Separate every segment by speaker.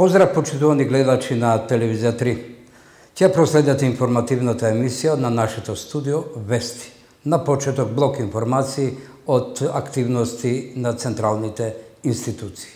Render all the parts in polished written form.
Speaker 1: Поздрав, почитувани гледачи на Телевизија 3. Ќе проследите информативната емисија на нашето студио Вести. На почеток блок информации од активности на централните институции.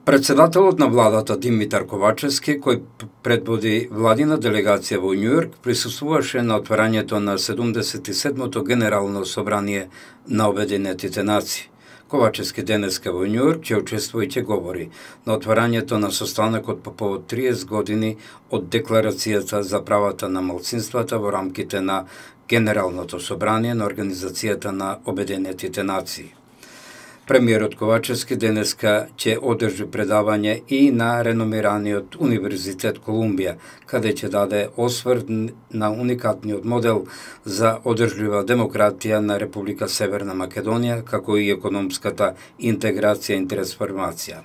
Speaker 1: Председателот на владата Димитар Ковачевски, кој предводи владина делегација во Њујорк, присуствуваше на отварањето на 77-то Генерално собрание на Обединетите нации. Ковачевски денеска во Њујорк ќе учествува и ќе говори на отварањето на состанокот по повод 30 години од Декларацијата за правата на малцинствата во рамките на Генералното собрание на Организацијата на Обединетите нации. Премиерот Ковачевски денеска ќе одржи предавање и на реномираниот Универзитет Колумбија, каде ќе даде осврт на уникатниот модел за одржлива демократија на Република Северна Македонија, како и економската интеграција и трансформација.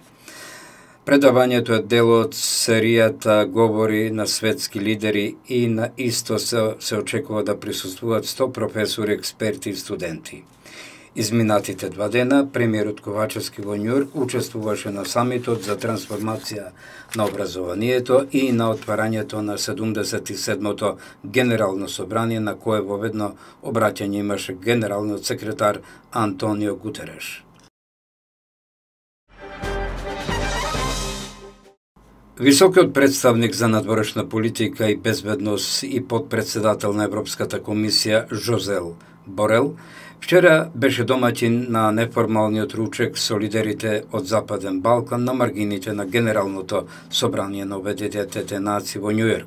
Speaker 1: Предавањето е дел од серијата говори на светски лидери и на исто се очекува да присуствуваат 100 професори, експерти и студенти. Изминатите 2 дена, премиерот Ковачевски во Њујорк учествуваше на самитот за трансформација на образованието и на отварањето на 77-то Генерално собрание, на кое воведно обраќање имаше генералниот секретар Антонио Гутереш. Високиот представник за надворешна политика и безбедност и подпредседател на Европската комисија Жозел Борел вчера беше домаќин на неформалниот ручек со лидерите од Западен Балкан на маргините на Генералното собрание на Обединетите нации во Њујорк.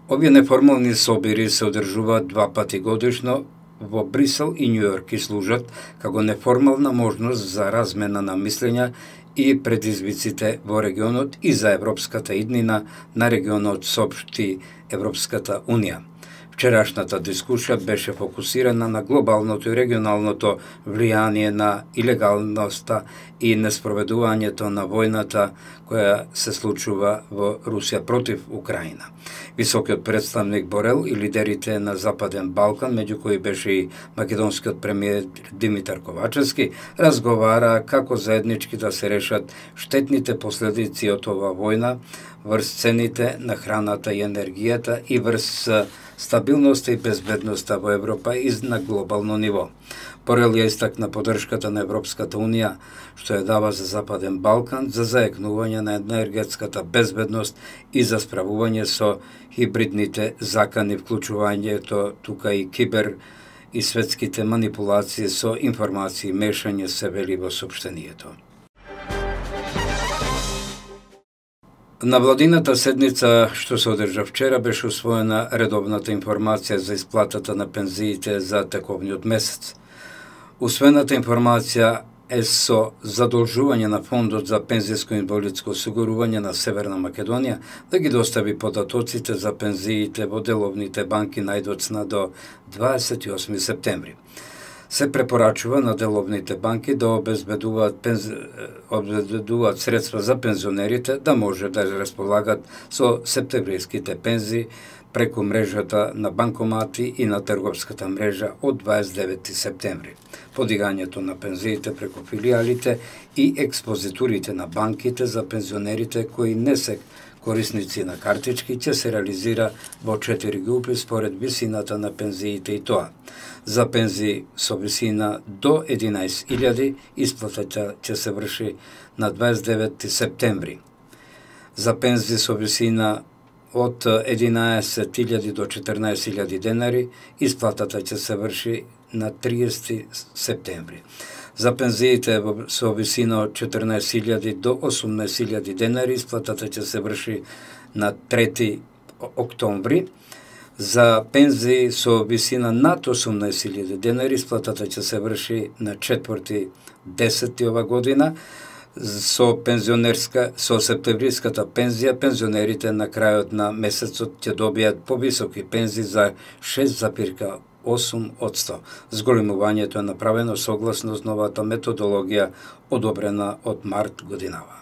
Speaker 1: Овие неформални собири се одржуваат 2 пати годишно во Брисел и Њујорк и служат како неформална можност за размена на мислења и предизвиците во регионот и за европската иднина на регионот, соопшти Европската Унија. Вчерашната дискусија беше фокусирана на глобалното и регионалното влијание на илегалноста и неспроведувањето на војната која се случува во Русија против Украина. Високиот представник Борел и лидерите на Западен Балкан, меѓу кои беше и македонскиот премиер Димитар Ковачевски, разговара како заеднички да се решат штетните последици од оваа војна врз цените на храната и енергијата и врз стабилноста и безбедноста во Европа и на глобално ниво. Борел ја истакна поддршката на Европската Унија, што ја дава за Западен Балкан за заекнување на енергетската безбедност и за справување со хибридните закани, вклучувањето тука и кибер и светските манипулации со информации и мешање, се вели во соопштението. На владината седница што се одржа вчера беше усвоена редовната информација за исплатата на пензиите за тековниот месец. Усвоената информација е со задолжување на Фондот за пензиско и инвалидско осигурување на Северна Македонија да ги достави податоците за пензиите во деловните банки најдоцна до 28 септември. Се препорачува на деловните банки да обезбедуваат средства за пензионерите да може да располагат со септемвриските пензии преку мрежата на банкомати и на трговската мрежа од 29 септември. Подигањето на пензиите преку филиалите и експозитурите на банките за пензионерите кои не се корисници на картички ќе се реализира во 4 групи според висината на пензиите и тоа. За пензии со висина до 11.000 исплатата ќе се врши на 29 септември. За пензии со висина од 11.000 до 14.000 денари исплатата ќе се врши на 30 септември. За пензиите со висина од 14.000 до 18.000 денари исплатата ќе се врши на 3 октомври. За пензии со висина над 18.000 денари исплатата ќе се врши на 4.10 ова година. Со септемвриската пензија, пензионерите на крајот на месецот ќе добијат повисоки пензии за 6,8%. Зголемувањето е направено согласно новата методологија одобрена од март годинава.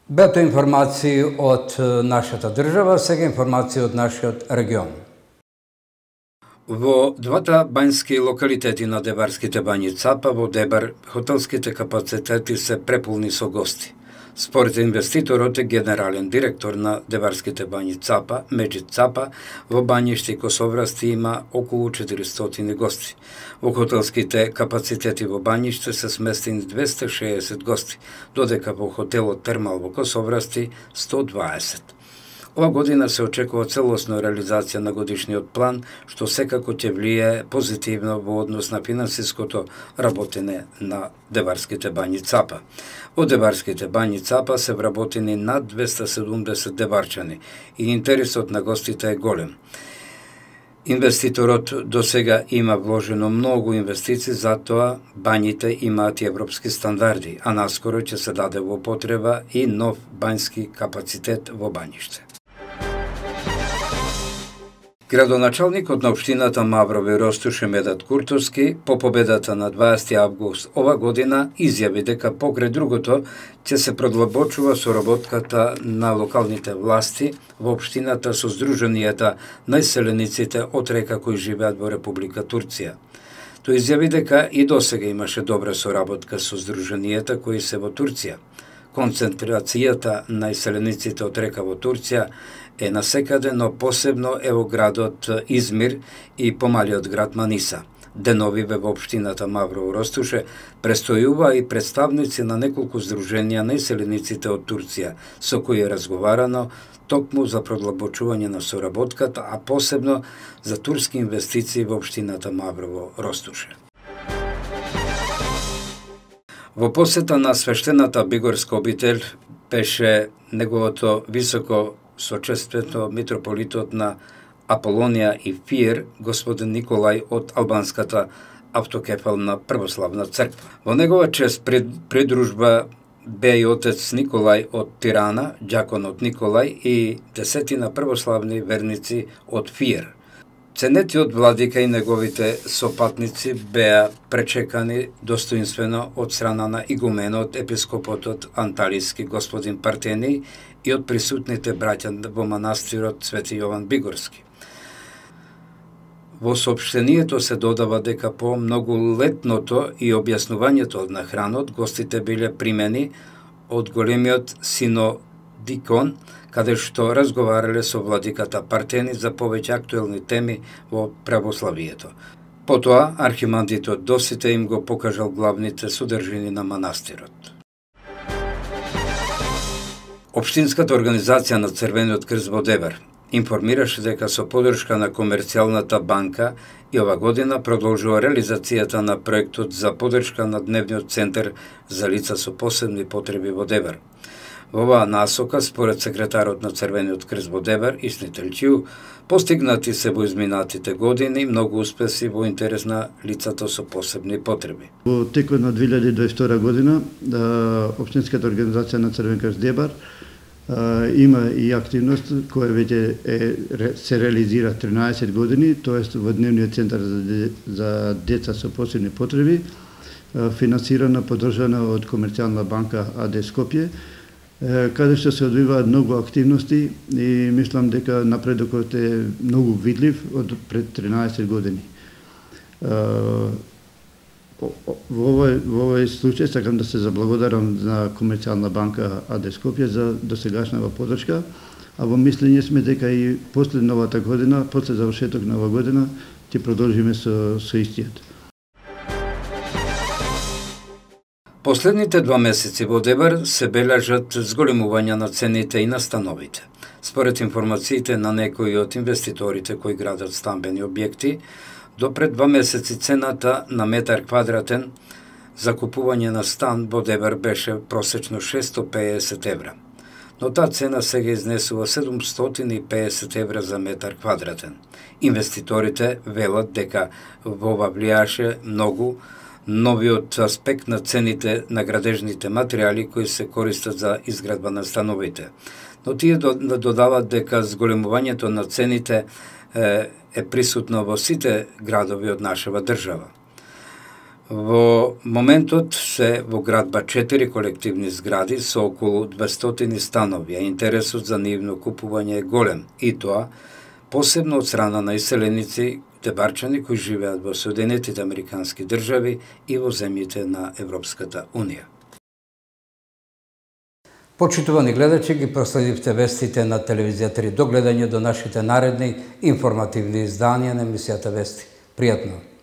Speaker 1: Бето информации од нашата држава, сега информации од нашиот регион. Во двата бањски локалитети на Дебарските бањи Цапа во Дебар, хотелските капацитети се преполни со гости. Според инвеститорот е генерален директор на Дебарските бањи Цапа, Меджид Цапа, во бањиште Косоврасти има околу 400 гости. Во хотелските капацитети во бањиште се сместени 260 гости, додека во хотелот Термал во Косоврасти 120. Ова година се очекува целосна реализација на годишниот план, што секако ќе влие позитивно во однос на финансиското работење на Дебарските бањи Цапа. Во Дебарските бањи Цапа се вработени над 270 дебарчани и интересот на гостите е голем. Инвеститорот до сега има вложено многу инвестиции, затоа бањите имаат и европски стандарди, а наскоро ќе се даде во потреба и нов бањски капацитет во бањиште. Градоначалникот на општината Маврово Ростуше Медат Куртовски по победата на 20 август ова година изјави дека покрај другото ќе се продлабочува соработката на локалните власти во општината со здруженијата на иселениците од река кои живеат во Република Турција. Тој изјави дека и досега имаше добра соработка со здруженијата кои се во Турција. Концентрацијата на иселениците од река во Турција е насекаде, но посебно е во градот Измир и помалиот град Маниса. Деновиве во општината Маврово Ростуше престојува и представници на неколку здруженија на иселениците од Турција, со кои е разговарано токму за продлабочување на соработката, а посебно за турски инвестиции во општината Маврово Ростуше. Во посета на свештената бигорска обител беше неговото високо сочествено митрополитот на Аполонија и Фиер, господин Николај од албанската автокефална православна црква. Во негова чест придружба бе и отец Николај од Тирана, џаконот Николај и десетина православни верници од Фиер. Ценетиот владика и неговите сопатници беа пречекани достоинствено од страна на игуменот, епископотот Анталиски господин Партени и од присутните браќа во манастирот Свети Јован Бигорски. Во соопштението се додава дека по многолетното и објаснувањето на хранот, гостите биле примени од големиот синодикон, каде што разговарале со владиката Партени за повеќе актуелни теми во православието. Потоа, архимандритот Досите им го покажал главните содржини на манастирот. Општинската организација на Црвениот крст во Дебар информираше дека со поддршка на Комерцијалната банка и ова година продолжува реализацијата на проектот за поддршка на дневниот центар за лица со посебни потреби во Дебар. Во оваа насока, според секретарот на Црвениот крст во Дебар, Исни Чиу, постигнати се во изминатите години многу успеси во интерес на лицата со посебни потреби.
Speaker 2: Во текот на 2022 година, Општинската организација на Црвен крст Дебар има и активност која веќе се реализира 13 години, тоест во дневниот центар за деца со посебни потреби, финансирана, поддржана од Комерцијална банка АД Скопје, каде што се одвиваат многу активности и мислам дека напредокот е многу видлив од пред 13 години. Во овој случај сакам да се заблагодарам на Комерцијална банка АД Скопје за досегашната поддршка, а во мислење сме дека и после новата година, после завршеток на оваа година, ќе продолжиме со истиот.
Speaker 1: Последните 2 месеци во Дебар се бележат зголемување на цените и на становите. Според информациите на некои од инвеститорите кои градат стамбени објекти, до пред 2 месеци цената на метар квадратен за купување на стан во Дебар беше просечно 650 евра. Но таа цена сега изнесува 750 евра за метар квадратен. Инвеститорите велат дека во ова влијаше многу новиот аспект на цените на градежните материјали кои се користат за изградба на становите. Но тие додават дека зголемувањето на цените е присутно во сите градови од нашава држава. Во моментот се во градба 4 колективни згради со околу 200 станови, а интересот за нивно купување е голем, и тоа посебно од страна на иселеници, тебарчани кои живеат во Соединетите Американски држави и во земјите на Европската Унија. Почитувани гледачи, ги проследивте вестите на телевизија 3. До гледање до нашите наредни информативни изданија на емисијата Вести. Пријатно!